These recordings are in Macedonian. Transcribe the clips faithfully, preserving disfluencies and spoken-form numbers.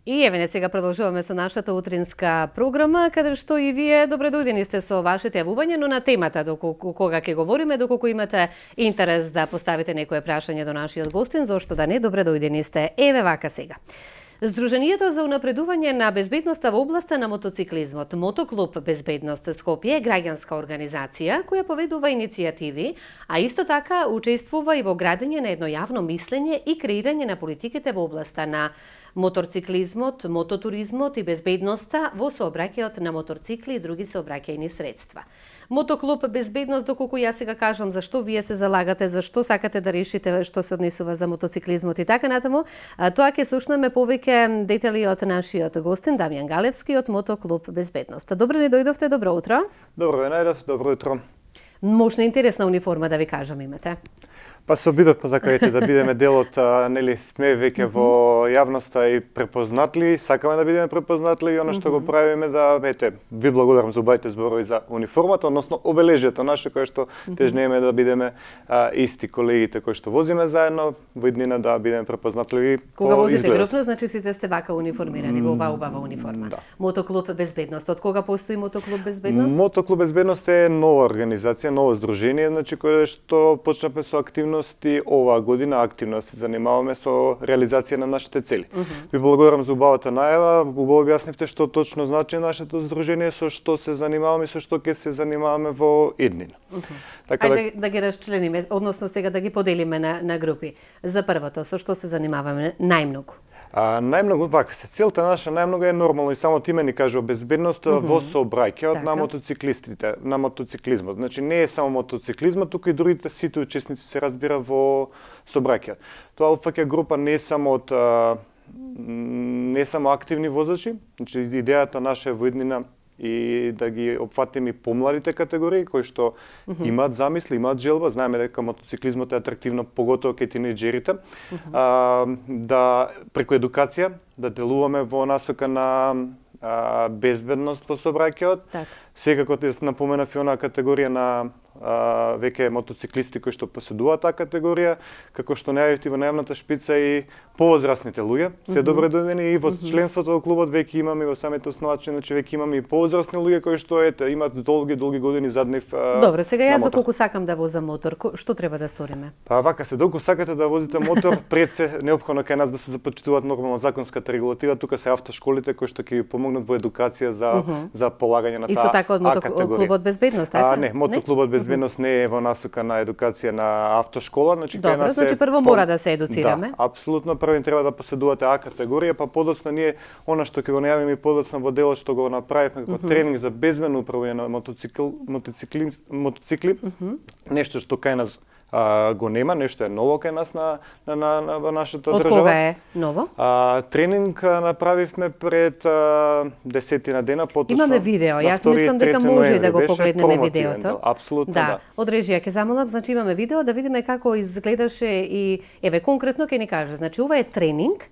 И еве не сега продолжуваме со нашата утринска програма, каде што и вие добре дојдени сте со вашите јавувања, но на темата доколку кога ќе говориме, доколку имате интерес да поставите некое прашање до нашиот гостин, зошто да не, добре дојдени сте. Еве вака сега. Сдруженијето за унапредување на безбедноста во областа на мотоциклизмот, Мотоклуб Безбедност Скопје е граѓанска организација која поведува иницијативи, а исто така учествува и во градење на едно јавно мислење и креирање на политиките во областа на моторциклизмот, мототуризмот и безбедноста во сообраќајот на моторцикли и други сообраќајни средства. Мотоклуб Безбедност, доколку јас сега кажам зашто вие се залагате, зашто сакате да решите што се однесува за мотоциклизмот и така натаму, тоа ќе слушнеме повеќе детали од нашиот гостин Дамјан Галевски од Мотоклуб Безбедност. Добро ни дојдовте, добро утро. Добро ве најдов, добро утро. Мощна интересна униформа да ви кажам имате. Па се обидовме така ете да бидеме дел од, нели сме веќе во јавноста и препознатли, сакаме да бидеме препознатли и она што го правиме да ете ви благодарам за убавите зборови за униформата, односно обележјето наше кое што тежнеме да бидеме а, исти колегите кои што возиме заедно во иднина да бидеме препознатливи. Кога возите изглед. Групно, значи сите сте вака униформирани во оваа убава униформа. Да. Мотоклуб Безбедност. Од кога постои Мотоклуб Безбедност? Мотоклуб Безбедност е нова организација, ново здружение, значи кое што почнавме со активност и оваа година активно се занимаваме со реализација на нашите цели. Uh -huh. Ви благодарам за убавата најава, убаво објаснивте што точно значи нашето здружение, со што се занимаваме и со што ќе се занимаваме во иднина. Uh -huh. Така Ајде да... да ги расчлениме, односно сега да ги поделиме на, на групи. За првото, со што се занимаваме најмногу? А, најмногу, вака се, целта наша најмногу е нормално и само име ни кажува безбедност mm -hmm. во сообраќајот така. На мотоциклистите, на мотоциклизмот. Значи не е само мотоциклизмот, туку и другите сите учесници се разбира во сообраќајот. Тоа опфаќа група не само од а, не само активни возачи, значи идејата наша е во иднина и да ги опфатиме и помладите категории кои што mm -hmm. имаат замисли, имаат желба, знаеме дека мотоциклизмот е атрактивно поготово кај тинејџерите, mm -hmm. а, да преку едукација да делуваме во насока на а, безбедност во сообраќајот. Так. Секако да се напоменав и онаа категорија на а, веќе мотоциклисти кои што поседуваат таа категорија, како што најавивте во најавната шпица и повозрастните луѓе, се mm -hmm. добре дојдени и во членството во клубот веќе имаме во самите основачи, значи веќе имаме и повозрастни луѓе кои што ете имаат долги долги години зад нив. Добро, сега јас доколку сакам да возам мотор, што треба да сториме? Па вака се, доколку сакате да возите мотор, пред се неопходно кај нас да се започитуваат нормално законската регулатива, тука се автошколите кои што ќе ви помогнат во едукација за mm -hmm. за полагање на таа. Исто така од Мотоклубот Безбедност, така? А, не, Мотоклубот Безбедност не е во насока на едукација на автошкола, значи Добро, кај нас значи прво мора да се едуцираме. Да, апсолутно прво треба да поседувате А категорија, па подоцна ние она што ќе го најавиме и подоцна во делот што го направивме како mm -hmm. тренинг за безбедно управување на мотоцикл, мотоцикли, мотоцикли, mm -hmm. нешто што кај нас а, го нема, нешто е ново кај нас на на на, на, на нашата Од држава. Од кога е ново? А, тренинг направивме пред а, десетина дена, поточно. Имаме видео, јас мислам дека може и да го погледнеме видеото. Да, апсолутно да. да. Од режија ќе замолам, значи имаме видео да видиме како изгледаше и еве конкретно ќе ни каже. Значи ова е тренинг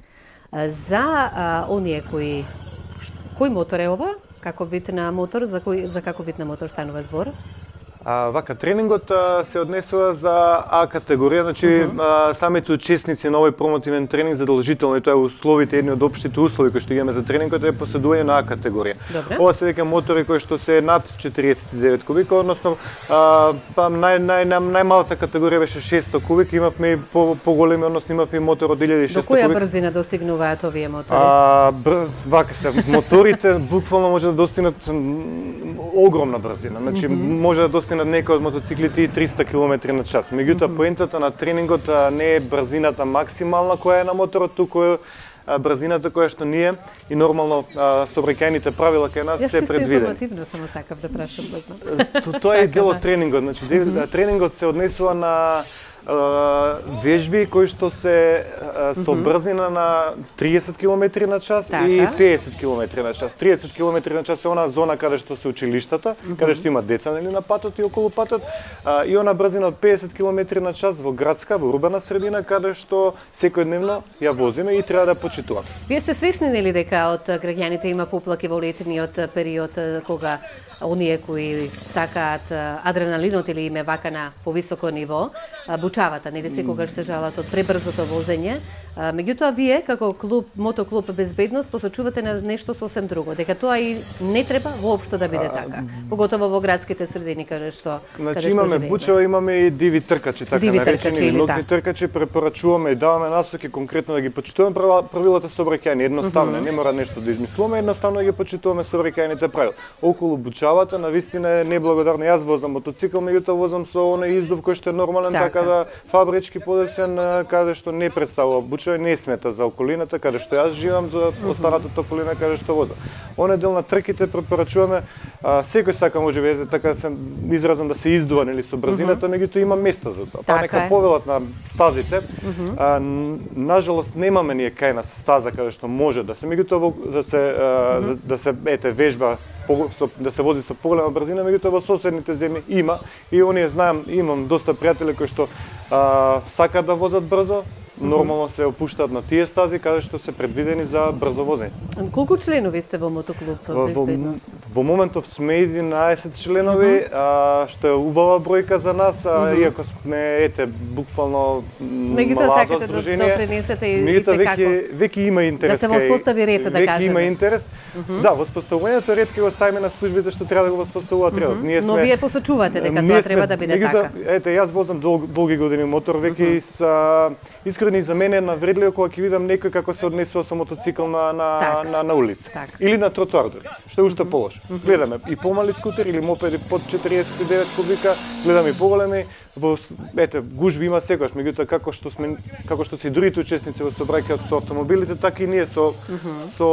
за а, оние кои кој мотор е ова? Како вид на мотор, за кој за како вид на мотор станува збор? А, вака, тренингот а, се однесува за А категорија, значи uh -huh. а, самите учесници на овој промотивен тренинг задолжително и тоа е условите, едни од општите услови кои што имаме за тренингот е поседување на А категорија. Добре. Ова се веќе мотори кои што се над четириесет и девет кубика, односно а, па нај нај најмалата категорија беше шестстотини кубика, имавме и по поголеми, односно имавме мотор од илјада и шестстотини кубика. До која брзина достигнуваат овие мотори? А, бр... вака се, моторите буквално може да достигнат огромна брзина. Значи mm -hmm. може да достигнат некои од мотоциклите и триста километри на час. Меѓутоа, mm -hmm. поентата на тренингот не е брзината максимална која е на моторот, туку е брзината која што ние и нормално сообраќајните правила кај нас се предвидени. Јас чисто информативно само сакав да прашам. Тоа е дел од тренингот. Значи, mm -hmm. тренингот се однесува на вежби кои што се со брзина на триесет километри на час така. И педесет километри на час. триесет километри на час е она зона каде што се училиштата, mm -hmm. каде што има деца нели на патот и околу патот, и она брзина од педесет километри на час во градска, во урбана средина каде што секојдневно ја возиме и треба да почитуваме. Вие сте свесни нели дека од граѓаните има поплаки во летниот период кога оние кои сакаат адреналинот или им е вака на повисоко ниво, бучавата, нели секогаш се жалат од пребрзото возење, Меѓутоа, вие, како клуб, мотоклуб Безбедност, посочувате на нешто сосем друго, дека тоа и не треба воопшто да биде така. Поготово во градските средини, каде што Значи имаме бучева, имаме и диви тркачи, така диви наречени, или нокни тркачи, препорачуваме и даваме насоки конкретно да ги почитуваме правилата сообраќајни, едноставно, mm -hmm. не мора нешто да измислуваме, едноставно да ги почитуваме сообраќајните правила. Околу бучавата, навистина е неблагодарно. Јас возам мотоцикл, меѓутоа возам со оној издув кој што е нормален, така, така да фабрички подесен, каде што не представува бучева, не смета за околината, каде што јас живам, за останатата околина каде што возам. Оне дел на трките препорачуваме, а, секој сака можеби така се изразам да се издува нели со брзината, меѓутоа има места за тоа. Па нека повелат на стазите. А, нажалост немаме ние кај нас стаза каде што може да се, меѓутоа да се а, да, да се ете вежба да се вози со поголема брзина, меѓутоа во соседните земји има и оние знаам, имам доста пријатели кои што а, сакаат да возат брзо, нормално се опуштаат на тие стази каде што се предвидени за брзо возење. Колку членови сте во мотоклуб Безбедност? Во, во моментов сме единаесет членови, uh -huh. а, што е убава бројка за нас, а, uh -huh. иако сме ете буквално меѓутоа сакате да допринесете и, и те како. Веќе веќе има интерес. Да се воспостави ред, да кажеме. Веќе има интерес. Uh -huh. Да, воспоставувањето ред ќе го ставиме на службите што треба да го воспоставуваат uh -huh. редот. Ние сме, но вие посочувате дека тоа треба да биде така. Ете, јас возам дол, долги години мотор, веќе uh -huh. са искрени за мене е навредливо кога ќе видам некој како се однесува со мотоцикл на на так. на, на улица так. или на тротоар, што е уште mm -hmm. полошо. Mm -hmm. Гледаме и помали скутери или мопеди под четириесет и девет кубика, гледаме и поголеми, во ете гужви има секогаш, меѓутоа како што сме како што се другите учесници во сообраќајот со автомобилите, така и ние со mm -hmm. со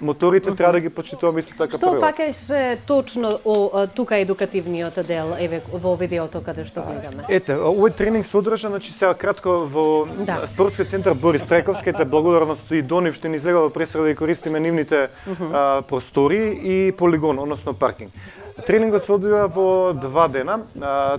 моторите треба да ги почитуваме исто така правила. Што фаќаш точно о тука едукативниот дел еве во видеото каде што гледаме? Ете, овој тренинг се одржа, значи сега кратко во да. Спортскиот центар Борис Трајковски, ете благодарност и до нив што ни излега во пресрада да користиме нивните uh -huh. а, простори и полигон, односно паркинг. Тренингот се одвива во два дена. А,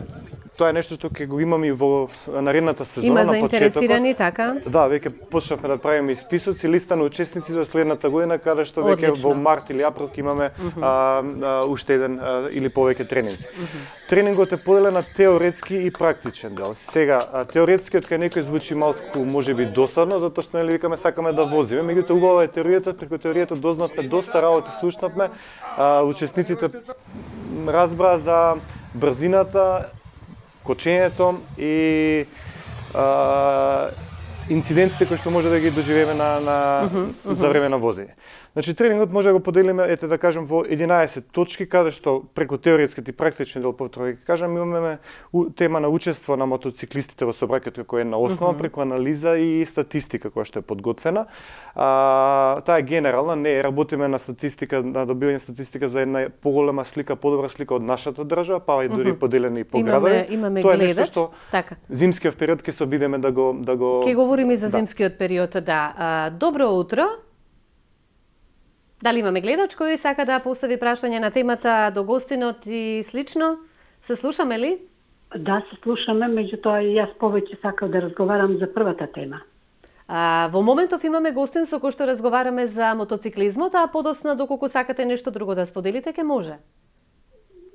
Тоа е нешто што ќе го имаме и во наредната сезона. Има заинтересирани, така? Да, веќе почнавме да правиме исписоци, листа на учесници за следната година, каде што веќе во март или април ќе имаме uh -huh. а, а, уште еден а, или повеќе тренинзи. Uh -huh. Тренингот е поделен на теоретски и практичен дел. Сега, теоретскиот кај некој звучи малку можеби досадно, затоа што нели викаме сакаме да возиме, меѓутоа убава е теоријата, преку теоријата дознавме доста работи, слушнавме, а, учесниците разбраа за брзината, кочењето и а, инцидентите кои што може да ги доживееме на, на uh -huh, uh -huh. за време на возење. Значи тренингот може да го поделиме ете да кажем во единаесет точки каде што преку теоретскиот и практичен дел повторно ќе кажам имаме тема на учество на мотоциклистите во сообраќајот како една основа uh -huh. преку анализа и статистика која што е подготвена. А, таа е генерална, не работиме на статистика, на добивање статистика за една поголема слика, подобра слика од нашата држава, па и дури uh -huh. поделени по градови. Имаме, имаме Тоа е гледач, нешто што така. Зимскиот период ќе се обидеме да го да го Ќе говориме за да. зимскиот период, да. А, добро утро. Дали имаме гледач кој сака да постави прашање на темата до гостинот и слично? Се слушаме ли? Да, се слушаме, меѓутоа и јас повеќе сакам да разговарам за првата тема. А, во моментов имаме гостин со кој што разговараме за мотоциклизмот, а подосна доколку сакате нешто друго да споделите, ке може.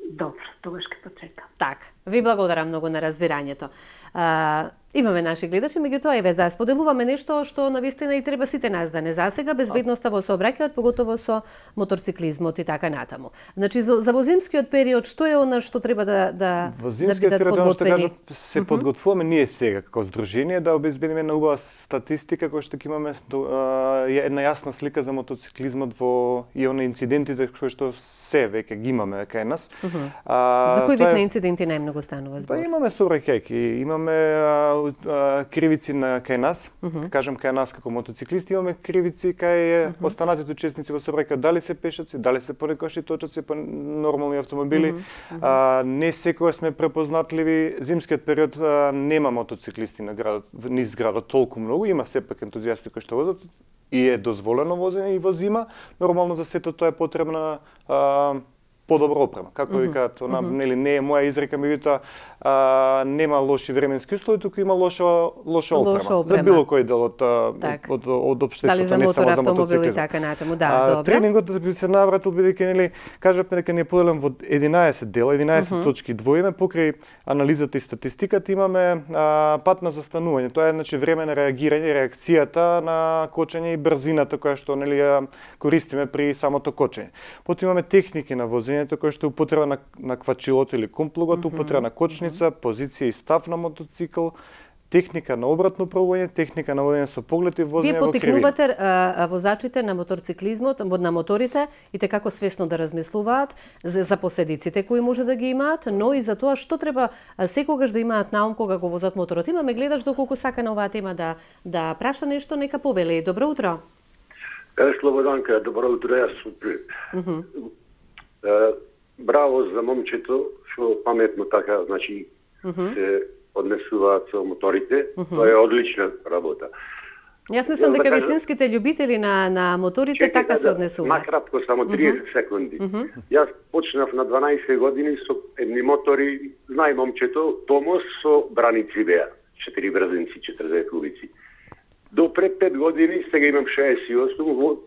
Добро, тогаш ќе почекам. Така, ви благодарам многу на разбирањето. А, имаме наши гледачи, меѓутоа еве да споделуваме нешто што навистина и треба сите нас да не засега безбедноста во сообраќајот, поготово со моторциклизмот и така натаму. Значи за, за во зимскиот период што е она што треба да да во зимскиот да период што кажам се uh -huh. подготвуваме ние сега како здружение да обезбедиме една убава статистика која што ќе имаме uh, една јасна слика за мотоциклизмот во и оние инцидентите кои што се веќе ги имаме кај нас. Uh -huh. uh, за кој вид на инциденти најмногу станува збор? Па имаме сообраќајки, имаме uh, кривици на кај нас, uh -huh. кажам кај нас како мотоциклисти, имаме кривици кај uh -huh. останатите учесници во сообраќајот, дали се пешаци, дали се понекогаш и точаци, па нормални автомобили. Uh -huh. а, не секогаш сме препознатливи. Зимскиот период а, нема мотоциклисти на градот, низ градот толку многу, има сепак ентузијасти кои што возат и е дозволено возење и во зима. Нормално за сето тоа е потребна а, подобра опрема. Како викаат, она нели не е моја изрека, меѓутоа нема лоши временски услови, туку има лоша лоша опрема. Лоша опрема. За било кој дел од так. од од општеството, не само за мотор, автомобил и така натаму, да, а, добро. Тренингот би се навратил бидејќи нели кажавме дека ни е поделен во единаесет дела, единаесет uh -huh. точки двоиме покрај анализата и статистиката имаме а, пат на застанување. Тоа е значи време на реагирање, реакцијата на кочење и брзината која што нели ја користиме при самото кочење. Потоа имаме техники на возењето која што е употреба на на квачилото или комплугот, uh -huh. употреба на кочница, позиција и став на мотоцикл, техника на обратно правување, техника на водење со поглед и возење во кривина. Вие поттикнувате возачите на моторциклизмот, на моторите, и те како свесно да размислуваат за, за последиците кои може да ги имаат, но и за тоа што треба секогаш да имаат на ум кога го возат моторот. Имаме гледаш доколку сака на оваа тема да да праша нешто, нека повели. Добро утро. Е, Слободанка, добро утро, јас сум uh -huh. Браво за момчето, што паметно така, значи, uh -huh. се однесуваат со моторите. Uh -huh. Тоа е одлична работа. Јас мислам дека да вистинските љубители на на моторите Чекай, така се однесуваат. Накратко, само триесет uh -huh. секунди. Uh -huh. Јас почнав на дванаесет години со едни мотори, знај момчето, Томос со браници беа, четири брзинци, четирдесет кубици. До пред пет години, сега имам шеесет и осум, во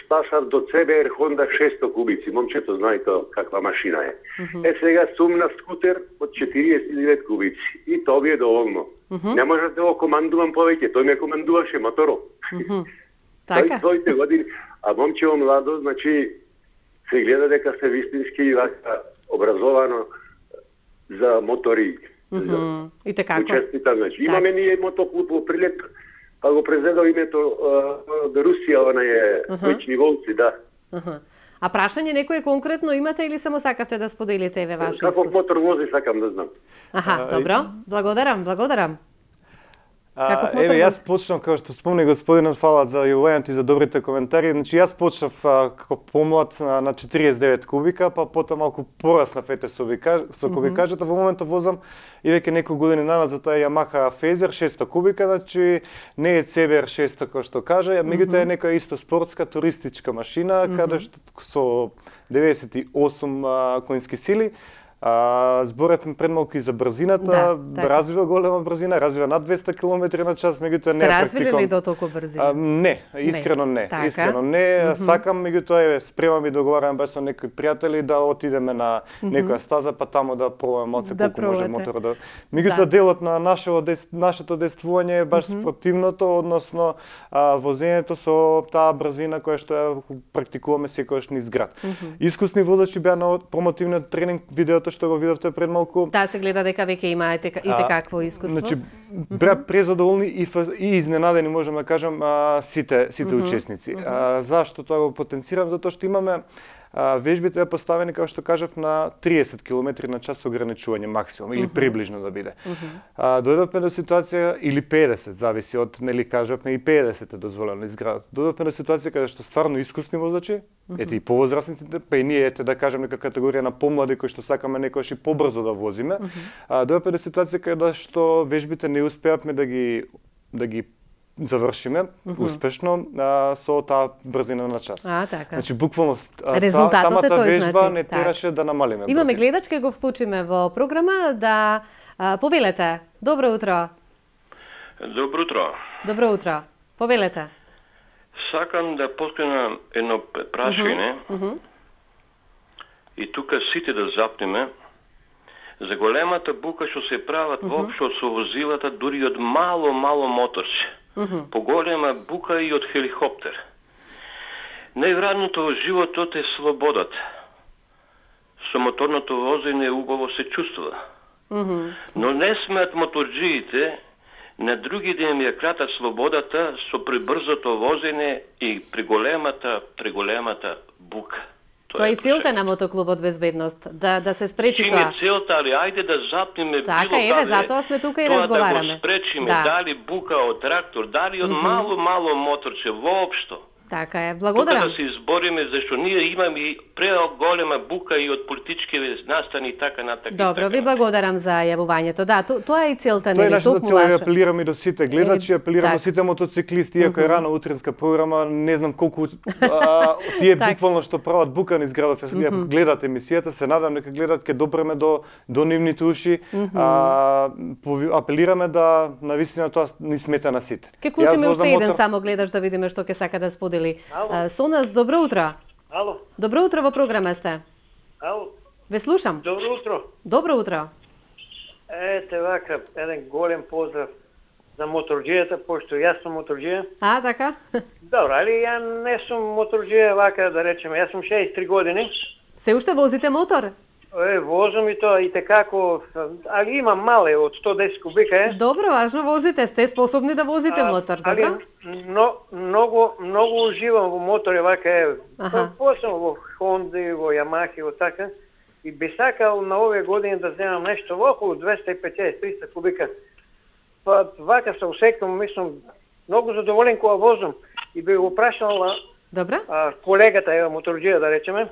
стасав до Це Б Р Honda шестстотини кубици. Момчето знае тоа каква машина е. Uh -huh. Е, сега сум на скутер од четириесет и девет кубици. И тоа би е доволно. Uh -huh. Не можеш да го командувам повеќе, тој ме командуваше моторот. Uh -huh. Така? Тој години. А момчево младо, значи, се гледа дека се вистински вака образовано за мотори. Uh -huh. И така. Учестита, значи. Имаме ние мотоклуб во Прилеп, па го презедал името до Русија, она е Вечни волци, да. Uh -huh. А прашање некој конкретно имате или само сакавте да споделите еве ваше искуство? Каков мотор вози, сакам да знам. Аха, добро. Благодарам, благодарам. А, еве, јас почнав, како што спомни господинот, фала за јавувањето и за добрите коментари. Значи, јас почнав а, како помлад на, на четириесет и девет кубика, па потоа малку пораснав, ете, со кубикажата. Во моментот возам и веќе неколку години назад, тоа е Yamaha Phaser шестстотини кубика, значи не е Це Б Р шестстотини како што кажа, меѓутоа е некоја исто спортска туристичка машина, каде што со деветдесет и осум а, конски сили. А, зборавме пред малку и за брзината, да, развива голема брзина, развива над двесте километри на час, меѓутоа не е практикувам. Сте развили ли до толку брзина? А, не, искрено не, не. искрено не. Mm -hmm. Сакам, меѓутоа спремам и договарам баш со некои пријатели да отидеме на некоја стаза, па таму да пробаме малце да колку може моторот да. Меѓутоа да. Делот на нашето дес, нашето действување е баш mm -hmm. спротивното, односно а, возењето со таа брзина која што ја практикуваме секогаш низ град. Mm -hmm. Искусни водачи беа на промотивниот тренинг, видеото што го видовте пред малку. Да, се гледа дека веќе имаате и те какво искуство. Значи, беа презадоволни и, и изненадени, можам да кажам, а, сите сите uh -huh. учесници. Uh -huh. а, зашто тоа го потенцирам? Затоа што имаме а, вежбите ја поставени, како што кажав, на триесет километри на час ограничување максимум, или uh -huh. приближно да биде. Uh -huh. а, дојдовме до ситуација, или педесет, зависи од, нели кажавме, и педесет е дозволено из градот. Дојдовме до ситуација каде што стварно искусни возачи, uh -huh. ете и повозрастниците, па и ние, ете да кажем, нека категорија на помлади кои што сакаме некојаш и побрзо да возиме, uh -huh. а, дојдовме до ситуација каде што вежбите не успеавме да ги да ги завршиме uh -huh. успешно а, со таа брзина на час. А, така. Значи буквално а, резултатот самата е тој, вежба значи, не тераше да намалиме. Имаме гледач, ке го вклучиме во програма да а, повелете. Добро утро. Добро утро. Добро утро. Повелете. Сакам да поткренам едно прашање. Uh -huh. Uh -huh. И тука сите да запнеме за големата бука што се прават uh -huh. воопшто со возилата, дури од мало мало моторче. Uh -huh. Поголема бука и од хеликоптер. Највредното во животот е слободата. Со моторното возење убаво се чувствува. Uh -huh. Но не смеат моторџиите на други да им ја кратат слободата со пребрзото возење и преголемата, преголемата бука. Тоа е целта на мотоклубот Безбедност, да да се спречи Чим тоа. Чим е целта, али ајде да запнеме така, било каде. Така, еве, затоа сме тука и разговараме. Да го спречиме, да. Дали бука од трактор, дали од mm -hmm. мало, мало моторче, воопшто. Така е, благодарам. Тука да се избориме, зашто ние имаме преголема бука и од политички настани и така натака. Добро, ви благодарам за јавувањето. Да, то, тоа е и целта, нели, нели, толку лаша. Тоа е апелирам и до сите гледачи, апелирам так. до сите мотоциклисти, иако е рано утринска програма, не знам колку а, тие буквално што прават бука низ градов, гледат емисијата, се надам дека гледат, ќе допреме до до нивните уши. А, апелираме да навистина тоа ни смета на сите. Ке клучиме уште еден мотор... само гледаш да видиме што ќе сака да сподели. А, со нас, добро утро. Ало. Добро утро, во програма сте. Ало. Ве слушам. Добро утро. Добро утро. Ете вака, еден голем поздрав за моторџијата, пошто јас сум моторџија. А, така? Добро, али ја не сум моторџија вака, да речеме, јас сум шеесет и три години. Се уште возите мотор? Е, возам и тоа и текако, али имам мале од сто десет кубика е. Добро, важно возите, сте способни да возите а, мотор, али, добро? Но, многу, многу уживам во мотори вака е. Посебно во Хонди, во Ямахи, во така. И би сакал на овие години да земам нешто во околу двеста и петдесет до триста кубика. Па вака се усекам, мислам, многу задоволен кога возам. И би го прашала а, колегата, ева моторџија да речеме,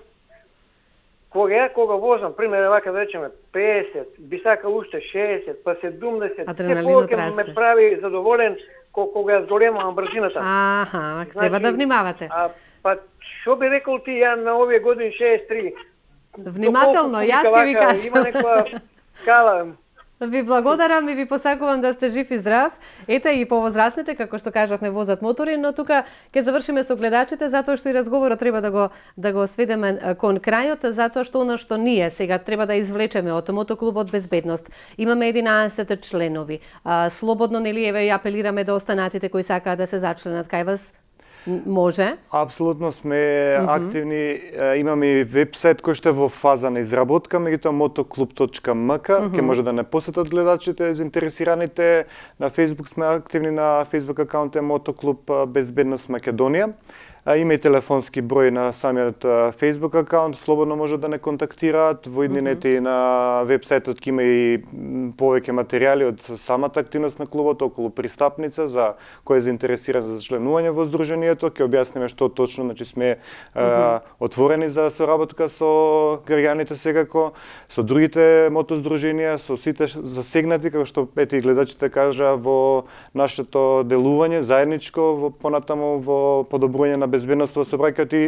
кога ја кога возам, пример вака да речеме петдесет, би сакал уште шеесет, па седумдесет, адреналинот расте. Ме прави задоволен кога ја зголемувам брзината. Аха, треба да внимавате. А, па што би рекол ти ја на овие години шеесет и три? Внимателно, јас ќе ви кажам. Има некоја скала. Ви благодарам и ви посакувам да сте жив и здрав. Ете и повозрастните, како што кажавме, возат мотори, но тука ќе завршиме со гледачите затоа што и разговорот треба да го да го сведеме кон крајот, затоа што она што ние сега треба да извлечеме од мотоклубот Безбедност. Имаме единаесет членови. А, слободно нели еве ја апелираме до останатите кои сакаат да се зачленат кај вас. Може? Апсолутно сме mm -hmm. активни. Имаме и вебсайт кој што е во фаза на изработка, меѓутоа мотоклуб точка ем ка, mm -hmm. ќе може да не посетат гледачите, заинтересираните. На Facebook сме активни, на Facebook акаунт е Мотоклуб Безбедност Македонија. Има и телефонски број на самиот Facebook акаунт, слободно може да не контактираат. Во иднините mm -hmm. и на вебсајтот ќе има и повеќе материјали од самата активност на клубот околу пристапница за кој е заинтересиран за членување во здруженијето. Ќе објасниме што точно, значи сме mm -hmm. а, отворени за соработка со граѓаните секако, со другите мотоздруженија, со сите засегнати, како што ете и гледачите кажа, во нашето делување заедничко во понатаму во подобрување на безбедност во сообраќајот и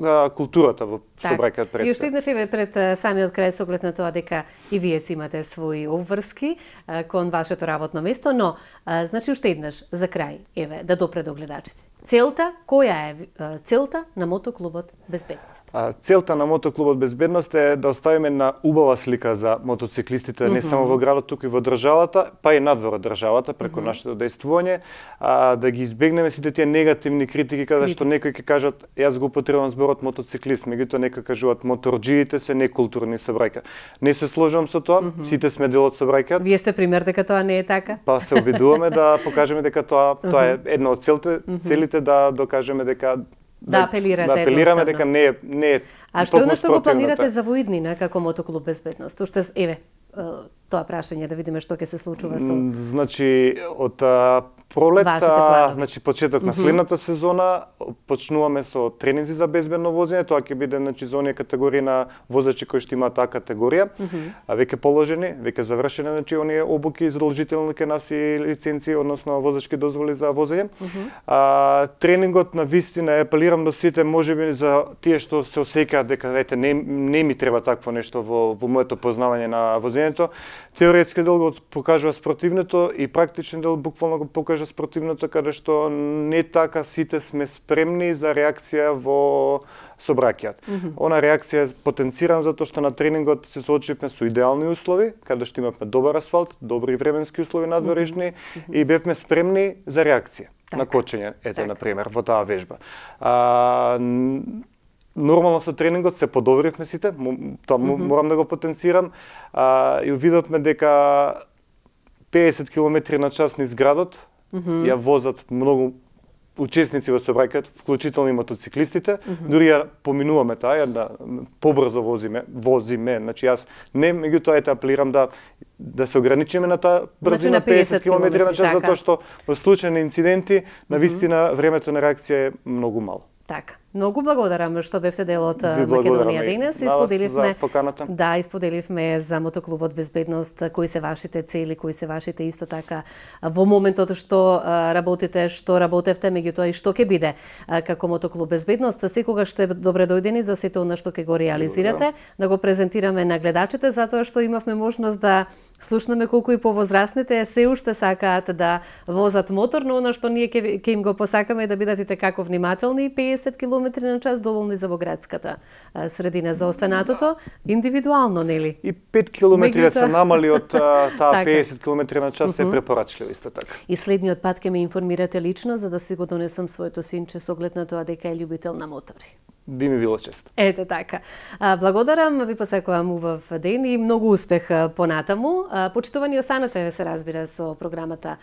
а, културата во сообраќајот пред се. И уште еднаш еве пред самиот крај со оглед на тоа дека и вие си имате своји обврски а, кон вашето работно место, но а, значи уште еднаш за крај, еве, да допре до гледачите. Целта, која е целта на мотоклубот Безбедност? А, целта на мотоклубот Безбедност е да оставиме на убава слика за мотоциклистите, не mm -hmm. само во градот, туку и во државата, па и надвор од државата преку mm -hmm. нашето дејствување, а, да ги избегнеме сите тие негативни критики каде што некои ќе кажат јас го употребувам зборот мотоциклист, меѓутоа некои кажуваат моторџиите се некултурни сообраќај. Не се сложувам со тоа, mm -hmm. сите сме дел од сообраќајот. Вие сте пример дека тоа не е така? Па се обидуваме да покажеме дека тоа тоа е една од целите, mm -hmm. целите да докажеме дека да апелирате, да апелираме дека не е не е. А што е што го планирате за воиднина како мотоклуб Безбедност? Уште еве тоа прашање да видиме што ќе се случува со. Значи од пролета, значи почеток на следната сезона почнуваме со тренинзи за безбедно возење, тоа ќе биде значи за оние категории на возачи кои што имаат таа категорија, а веќе положени, веќе завршени значи оние обуки задолжителни кај нас и лиценци, односно возачки дозволи за возење. А, тренингот на вистина апелирам до сите, можеби за тие што се осеќаат дека ете не, не ми треба такво нешто во во моето познавање на возењето. Теоретски дел го покажува спротивното и практичен дел буквално го покажа спротивното, каде што не така сите сме спремни за реакција во сообраќајот. Mm -hmm. Она реакција е потенцирана затоа што на тренингот се соочивме со идеални услови, каде што имавме добар асфалт, добри временски услови надворешни mm -hmm. и бевме спремни за реакција так. на кочење, ете так. на пример во таа вежба. А, нормално со тренингот се подобривме сите, тоа mm -hmm. морам да го потенцирам, а, и увидовме дека педесет километри на час низ градот mm -hmm. ја возат многу учесници во сообраќајот, вклучително и мотоциклистите, mm -hmm. дури ја поминуваме таа, ја да побрзо возиме, возиме, значи јас не, меѓутоа ете апелирам да да се ограничиме на таа брзина значи, песет километри на час, така. затоа што во случај на инциденти, на вистина времето на реакција е многу мало. Така. Многу благодарам што бевте дел од Ви Македонија благодарам и денес. на вас за поканата. Да, исподеливме за мотоклубот Безбедност, кои се вашите цели, кои се вашите исто така во моментот што работите, што работевте, меѓутоа и што ќе биде како мотоклуб Безбедност. Секогаш сте добре дојдени за сето она што ќе го реализирате, да го презентираме на гледачите, затоа што имавме можност да слушнеме колку и повозрастните се уште сакаат да возат мотор, но она што ние ќе ќе им го посакаме е да бидат и како внимателни, песет километри на час доволни за во градската средина. За останатото индивидуално, нели? И пет километри да се намали од таа така. песет километри на час е препорачливо исто така. И следниот пат ќе ме информирате лично за да си го донесам своето синче со оглед на тоа дека е љубител на мотори. Би ми било чест. Ете така. Благодарам, ви посакувам убав ден и многу успех понатаму. Почитувани останете, се разбира, со програмата,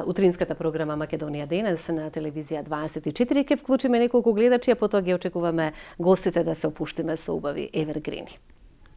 утринската програма Македонија денес на телевизија дваесет и четири. Ке вклучиме неколку гледачи, а потоа ги очекуваме гостите да се опуштиме со убави евергрини.